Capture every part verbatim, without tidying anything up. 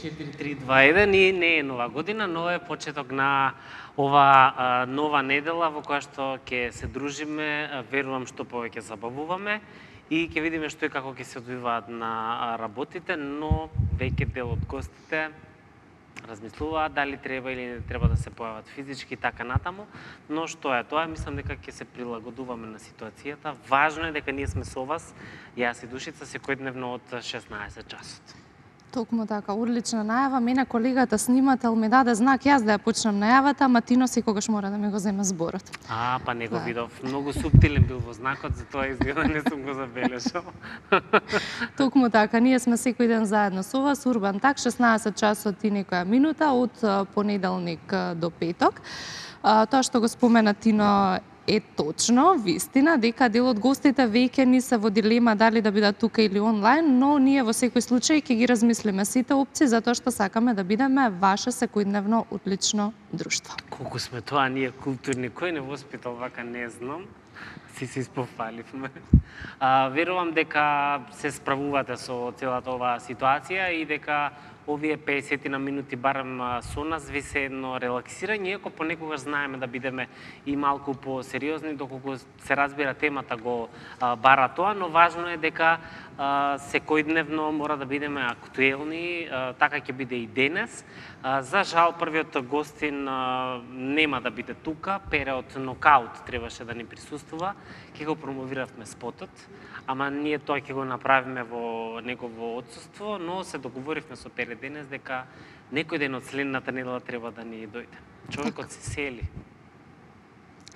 четири три два еден и не е нова година, но е почеток на ова а, нова недела во која што ќе се дружиме, верувам што повеќе забавуваме и ќе видиме што и како ќе се одвиваат на работите, но веќе дел од гостите размислуваат дали треба или не треба да се појават физички така натаму, но што е тоа, мислам дека ќе се прилагодуваме на ситуацијата. Важно е дека ние сме со вас, јас и Душица, секојдневно од шеснаесет часот. Токму така, одлична најава. Мене колегата снимател ми даде знак јас да ја почнам најавата, ама Тино секогаш мора да ми го земе зборот. А, па не го видов. Многу суптилен бил во знакот, затоа изгледа не сум го забележал. Токму така, ние сме секој ден заедно со вас, Урбан Так, шеснаесет часот и некоја минута од понеделник до петок. Тоа што го спомена Тино е точно, вистина, дека дел од гостите веќе ни се во дилема дали да бидат тука или онлайн, но ние во секој случај ќе ги размислиме сите опции, затоа што сакаме да бидеме ваше секојдневно одлично друштво. Колку сме тоа ние културни, кој не воспитал вака, не знам. Си се испофаливме. А, верувам дека се справувате со целата оваа ситуација и дека овие песет на минути барем со нас ви се едно релаксирање, иако понекогаш знаеме да бидеме и малку по-сериозни, доколку се разбира темата го а, бара тоа, но важно е дека а, секојдневно мора да бидеме актуелни, а, така ќе биде и денес. А, за жал, првиот гостин а, нема да биде тука, Пере од Нокаут требаше да ни присуствува, ќе го промовиравме спотот, ама ние тоа ќе го направиме во негово отсуство, но се договоривме со Пере денес дека некој ден од следната недела треба да ни дојде. Човекот се сели.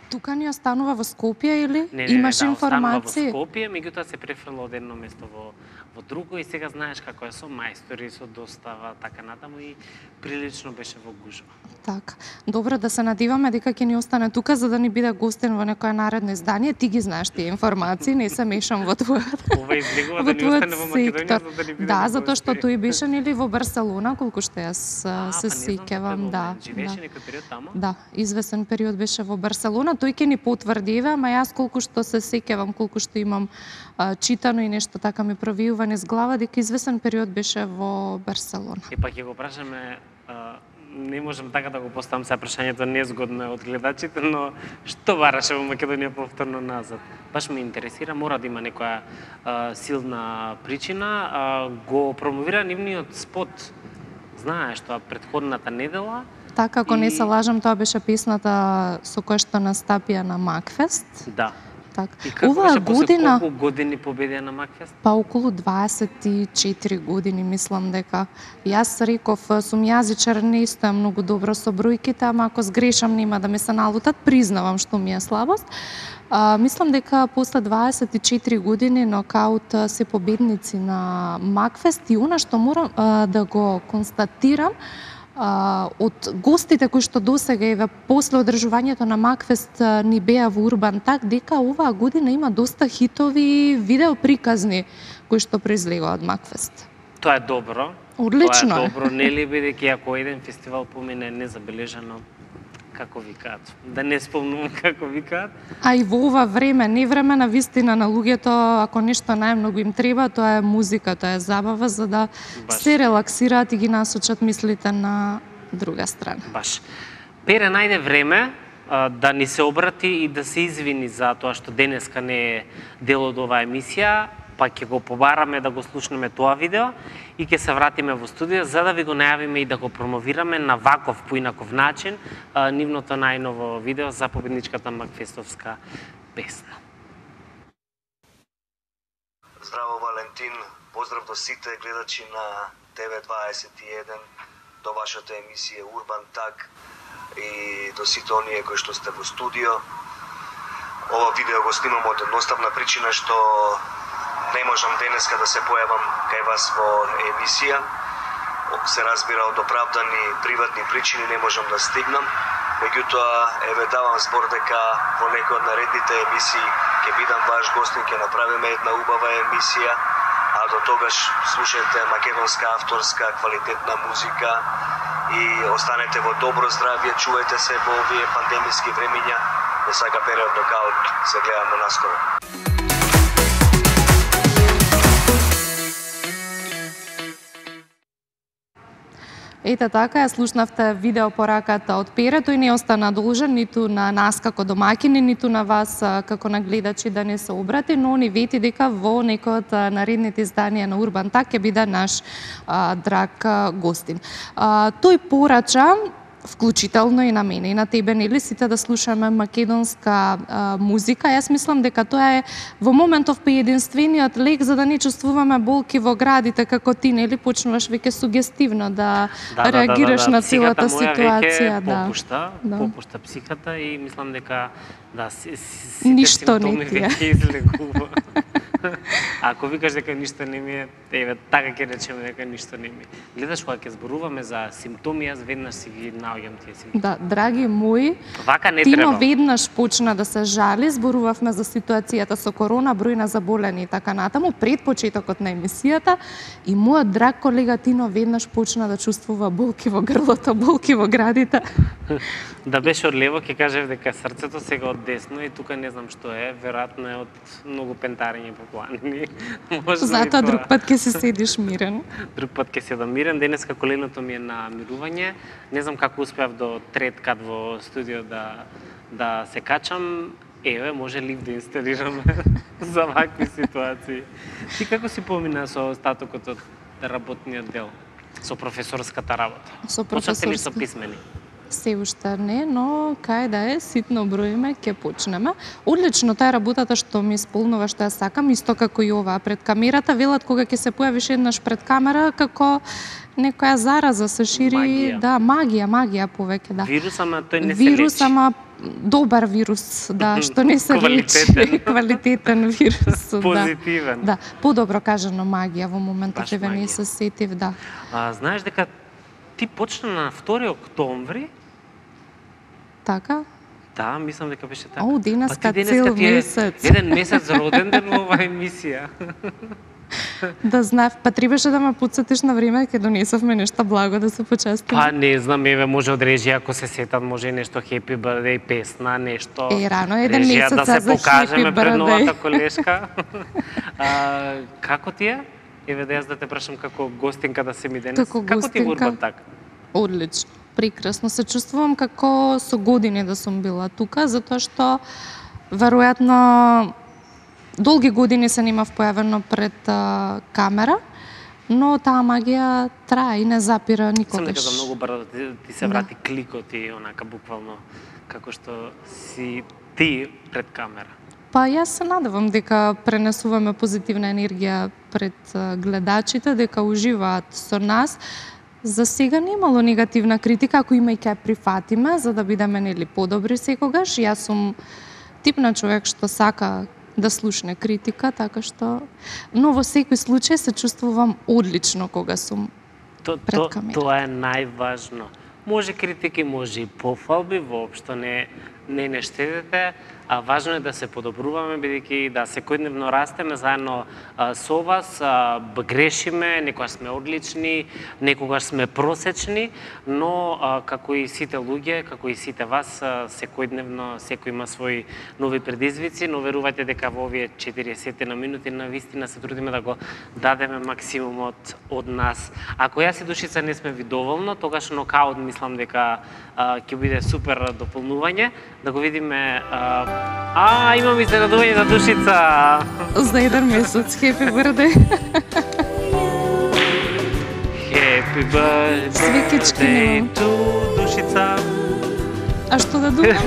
Тука ни останува во Скопје или не, не, имаш не, да, информации? Останува во Скопје, меѓутоа се префрла од едно место во во друго и сега знаеш како е со мајстори, со достава, така натаму и прилично беше во гужва. Така. Добро, да се надеваме дека ќе ни остане тука за да ни биде гостен во некое наредно издание. Ти ги знаеш тие информации, не се мешам во твојот. Ова излегува да ни остане во Македонија за да ни биде. Да, затоа што тој беше нели во Барселона, колку што јас се па сеќавам, да. Живееше некој период таму? Да, извесен период беше во Барселона. Тој ќе ни потврди, ама јас колку што се сеќавам, колку што имам а, читано и нешто така ми провиува низ глава дека извесен период беше во Барселона. И па ќе го прашаме, а, не можам така да го поставам се прашањето незгодно од гледачите, но што бараше во Македонија повторно назад? Баш ме интересира, мора да има некоја а, силна причина. А, го промовира нивниот спот, знаеш тоа, предходната недела. Така, ако и... не се лажам, тоа беше песната со која што настапија на Макфест. Да. Так. И како Оваа беше година, после колку години победија на Макфест? Па околу дваесет и четири години, мислам дека. Јас реков, сум јазичар, не стојам многу добро со бројките, ама ако сгрешам нема да ме се налутат, признавам што ми е слабост. А, мислам дека после дваесет и четири години Нокаут се победници на Макфест и она што морам а, да го констатирам, Uh, од гостите кои што досега еве после одржувањето на Макфест uh, ни беа во Урбан Так, дека оваа година има доста хитови видео приказни кои што произлегува од Макфест. Тоа е добро. Одлично. Тоа е добро, нели, бидејќи ако еден фестивал помине незабележано, како викаат, да не спомнувам како викаат. А и во ова време, не време на вистина на луѓето, ако нешто најмногу им треба, тоа е музика, тоа е забава, за да Баш. се релаксираат и ги насочат мислите на друга страна. Баш. Пере најде време а, да ни се обрати и да се извини за тоа што денеска не е дел од оваа емисија, па ќе го побараме да го слушнеме тоа видео и ќе се вратиме во студио за да ви го најавиме и да го промовираме на ваков поинаков начин а, нивното најново видео за победничката макфестовска песна. Здраво, Валентин, поздрав до сите гледачи на Т В дваесет и еден, до вашата емисија Урбан Так и до сите оние кои што сте во студио. Ова видео го снимам од едноставна причина што не можам денеска да се појавам кај вас во емисија. Се разбира, од оправдани приватни причини не можам да стигнам. Меѓутоа, еве давам збор дека во некој од наредните емисии ќе бидам ваш гостин, ќе направиме една убава емисија, а до тогаш слушајте македонска авторска квалитетна музика и останете во добро здравје, чувајте се во овие пандемиски времиња. До сака Пере од Нокаут, се гледаме наскоро. Ете така, ја слушнавте видео пораката од Пере, тој не остана должен ниту на нас како домаќини, ниту на вас како на гледачи да не се обрати, но ни вети дека во некој од наредните изданија на Урбан Так ќе биде наш а, драг а, гостин. А, тој порача, вклучително и на мене и на тебе, нели, сите да слушаме македонска а, музика. Јас мислам дека тоа е во моментов поединствениот лек за да не чувствуваме болки во градите, како ти, нели, почнуваш веќе сугестивно да, да реагираш да, да, да. на целата ситуација. Да. Попушта, да. попушта психата и мислам дека да, си, си, ништо не ти е. Веќе излегува. Ако викаш дека ништо не ми е, еве, така ќе речеме дека ништо не ми е. Гледаш, кога ќе зборуваме за симптоми, јас веднаш си ги наоѓам тие симптоми. Да, драги мои, вака не Тино треба. веднаш почна да се жали, зборувавме за ситуацијата со корона, број на заболени и така натаму, пред почетокот на емисијата, и мојот драг колега Тино веднаш почна да чувствува болки во грлото, болки во градите. Да беше од лево, ќе кажев дека срцето, сега од десно и тука не знам што е, веројатно е од многу пентарење по планини. Затоа друг пат ќе се седиш мирен. Друг пат ќе седам мирен. Денеска коленото ми е на мирување. Не знам како успеав до трет кат во студио да да се качам. Еве, може лифт да инсталираме за вакви ситуации. Ти како си помина со остатокот од работниот дел? Со професорската работа? Со Почнавте ли со професорска. писмени? Се уште не, но кај да е, ситно броиме, ќе почнеме. Одлично, таа работата што ми исполнува што ја сакам, исто како и оваа пред камерата, велат кога ќе се појавиш еднаш пред камера, како некоја зараза се шири, Магија. да, магија, магија повеќе, да. Вирус, ама тој не се Вирус, лечи. ама добар вирус, да, што не се Квалитетен. лечи. Квалитетен вирус, да. Позитивен. Да, подобро кажано магија во моментот, Баш еве не магија. се сетив, да. А, знаеш дека ти почна на втори октомври? Така? Да, мислам дека беше така. О, денеска ти цел ти е месец. Еден месец роден ден во оваа емисија. Да знав, па требаше да ме подсетиш на време, ќе донесовме нешто благо да се почестим. Па не знам, еве може од режија ако се сетат, може и нешто happy birthday песна, нешто. Е, рано еден режија месец да се за покажеме happy пред birthday. новата колешка. а, како ти е? Еве да јас да те прашам како гостинка да се ми денес. Како Како ти е гостинка? Урбан Так? Одлично, прекрасно. Се чувствувам како со години да сум била тука, затоа што веројатно долги години се немав појавено пред а, камера, но таа магија трае и не запира Сам никогаш. дека за многу брзо ти, ти се Да. врати кликот и онака буквално како што си ти пред камера. Па јас се надевам дека пренесуваме позитивна енергија пред а, гледачите, дека уживаат со нас. За сега немало негативна критика, ако има и ќе ја прифатиме, за да бидеме нели подобри секогаш. Јас сум тип на човек што сака да слушне критика, така што... Но во секој случај се чувствувам одлично кога сум То, пред то, камера. тоа е најважно. Може критики, може и пофалби, воопшто не не не штедете, а важно е да се подобруваме, бидејќи да секојдневно растеме заедно а, со вас, а, грешиме, некогаш сме одлични, некогаш сме просечни, но а, како и сите луѓе, како и сите вас, а, секојдневно секој има своји нови предизвици, но верувајте дека во овие четириесет на минути на вистина се трудиме да го дадеме максимумот од нас. Ако јас и Душица не сме ви доволно, тогаш нокаут мислам дека а, ќе биде супер дополнување, да го видиме. А, а имам изненадување за Душица. За еден месец. Happy birthday. Happy birthday Свекички немам. to Душица. А што да думам?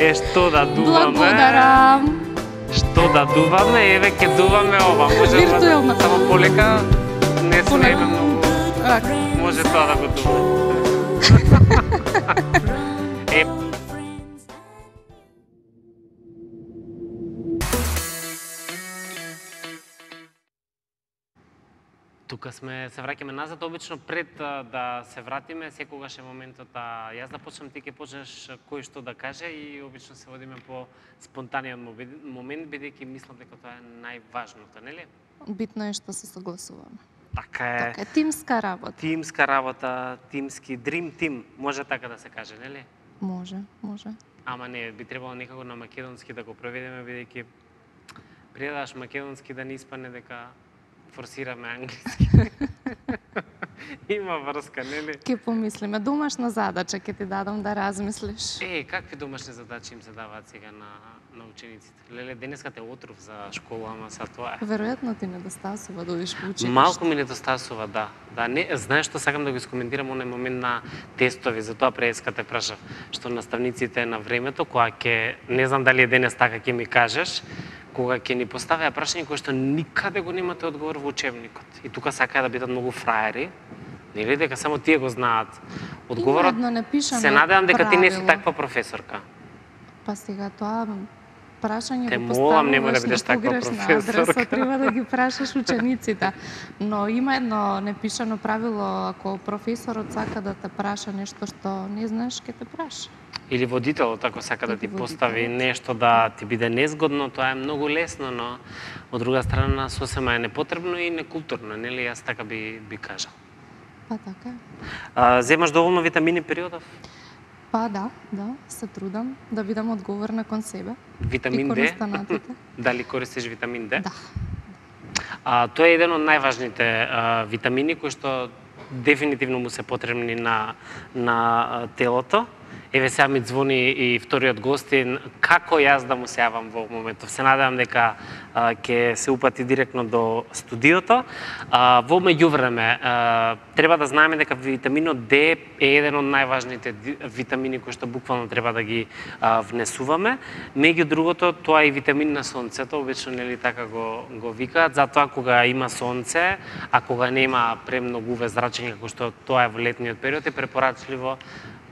Е, што да дуваме? Благодарам. Што да дуваме? Еве ќе дуваме ова. Може Виртуелно. само полека. Не сме Полека. многу. Ака. Може тоа да го дуваме. Е, тука сме, се враќаме назад, обично пред а, да се вратиме, секогаш е моментот, а јас да почнам, ти ќе почнеш кој што да каже и обично се водиме по спонтаниот моби- момент, бидејќи мислам дека тоа е најважното, нели? Битно е што се согласуваме. Така е. Така е, тимска работа. Тимска работа, тимски дрим тим, може така да се каже, нели? Може, може. Ама не, би требало некако на македонски да го преведеме, бидејќи предаш македонски да не испане дека форсираме англиски. Има врска, нели? Ке помислиме, домашна задача ќе ти дадам да размислиш. Е, какви домашни задачи им се даваат сега на на учениците? Леле, денеска те отров за школа, ама са тоа е. Веројатно ти недостасува да одиш во училиште. Малку ми недостасува, да. Да, не, знаеш што сакам да го искоментирам оној момент на тестови, затоа преска те прашав, што наставниците на времето, кога ќе, не знам дали е денес така ќе ми кажеш, кога ќе ни поставеа прашање кои што никаде го немате одговор во учебникот. И тука сакаа да бидат многу фраери, нели дека само тие го знаат одговорот. Има едно непишано Се надевам дека ти не си правило. таква професорка. Па сега тоа прашање Те го молам, немој да поставуваш бидеш на таква погрешна професорка. адреса, треба да ги прашаш учениците. Но има едно непишано правило, ако професорот сака да те праша нешто што не знаеш, ќе те праша. Или водителот, ако сака да Или ти постави водителот. нешто да ти биде незгодно, тоа е многу лесно, но од друга страна сосема е непотребно и некултурно, нели? Јас така би би кажал. Па така е. А, земаш доволно витамини периодов? Па да, да, се трудам да бидам одговорна кон себе. Витамин и кон Д? останатите. Дали користиш витамин Д? Да. А, тоа е еден од најважните а, витамини кои што дефинитивно му се потребни на на а, телото. Еве сега ми звони и вториот гостин, како јас да му се јавам во моментов. Се надевам дека а, ќе се упати директно до студиото. А, во меѓувреме, а, треба да знаеме дека витаминот Д е еден од најважните витамини кои што буквално треба да ги а, внесуваме. Меѓу другото, тоа е и витамин на сонцето, обично нели така го го викаат, затоа кога има сонце, а кога нема премногу уве зрачење како што тоа е во летниот период, е препорачливо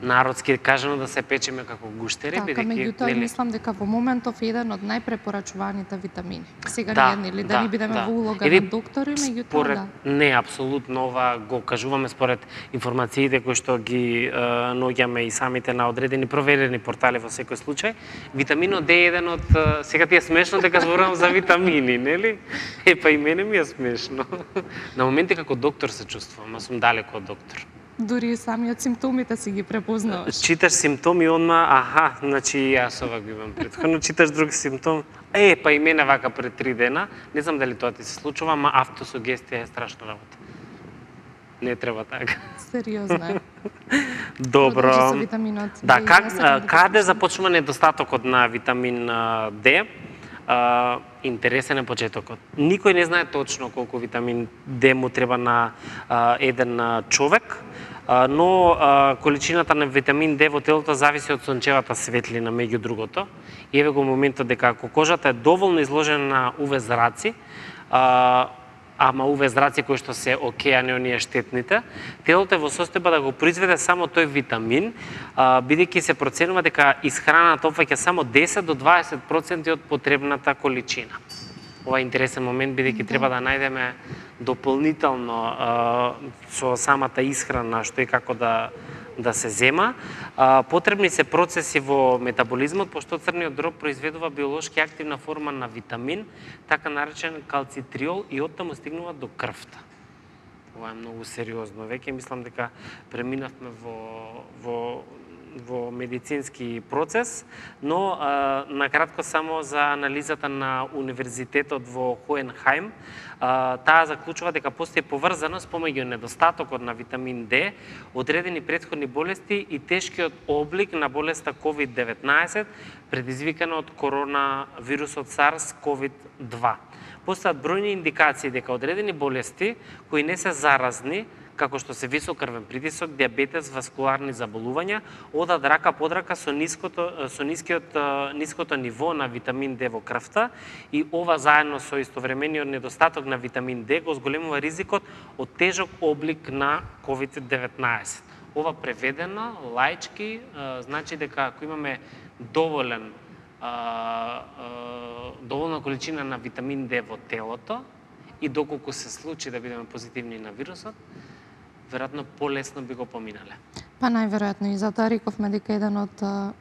народски кажано да се печеме како гуштери, Така, бидејќи меѓутоа нели мислам дека во моментов е еден од најпрепорачуваните витамини. Сега Да, не е нели да, да, ни бидеме да. во улога Или на доктори, меѓутоа според да. не апсолутно ова го кажуваме според информациите кои што ги е, наоѓаме и самите на одредени проверени портали во секој случај. Витаминот Д е еден од е, сега ти е смешно дека зборувам за витамини, нели? Е па и мене ми е смешно. На моменти како доктор се чувствувам, а сум далеко од доктор. Дури и самиот симптомите си ги препознаваш. Читаш симптоми одма, аха, значи и јас ова го имам претходно, читаш друг симптом, е, па и мене вака пред три дена, не знам дали тоа ти се случува, ама автосугестија е страшна работа. Не треба така. Сериозно е. Добро. Продолжи со витаминот Д. Да, как, Јас сакам да каде послушам. започнува недостатокот на витамин а, Д? А, интересен е почетокот. Никој не знае точно колку витамин Д му треба на а, еден а, човек, а, но а, количината на витамин Д во телото зависи од сончевата светлина, меѓу другото. И еве го моментот дека ако кожата е доволно изложена на УВ зраци, а, ама УВ зраци кои што се окей, а не оние штетните, телото е во состојба да го произведе само тој витамин, а, бидејќи се проценува дека исхраната опфаќа само десет до дваесет проценти од потребната количина. Ова е интересен момент, бидејќи Да. треба да најдеме дополнително а, со самата исхрана што и како да да се зема. А, потребни се процеси во метаболизмот, пошто црниот дроб произведува биолошки активна форма на витамин, така наречен калцитриол, и оттаму стигнува до крвта. Ова е многу сериозно. Веќе мислам дека преминавме во во во медицински процес, но а, накратко само за анализата на универзитетот во Хоенхаим, а, таа заклучува дека постои поврзаност помеѓу недостатокот на витамин Д, одредени претходни болести и тешкиот облик на болеста ковид деветнаесет, предизвикана од коронавирусот SARS ковид два. Постојат бројни индикации дека одредени болести кои не се заразни, како што се висок крвен притисок, диабетес, васкуларни заболувања, одат рака под рака со ниското со нискиот ниското ниво на витамин Д во крвта, и ова заедно со истовремениот недостаток на витамин Д го зголемува ризикот од тежок облик на ковид деветнаесет. Ова преведено лаички значи дека ако имаме доволен а, а, доволна количина на витамин Д во телото, и доколку се случи да бидеме позитивни на вирусот, веројатно полесно би го поминале. Па најверојатно и затоа рековме дека еден од а,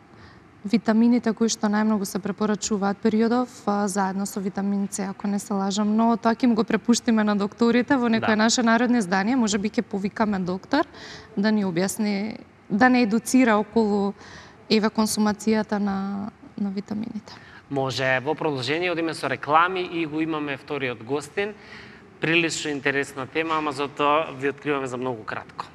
витамините кои што најмногу се препорачуваат периодов, а, заедно со витамин С, ако не се лажам, но тоа ќе им го препуштиме на докторите во некое Да. наше народно издание, можеби ќе повикаме доктор да ни објасни, да не едуцира околу еве консумацијата на на витамините. Може, во продолжение одиме со реклами и го имаме вториот гостин. Прилично интересна тема, ама затоа ви откриваме за многу кратко.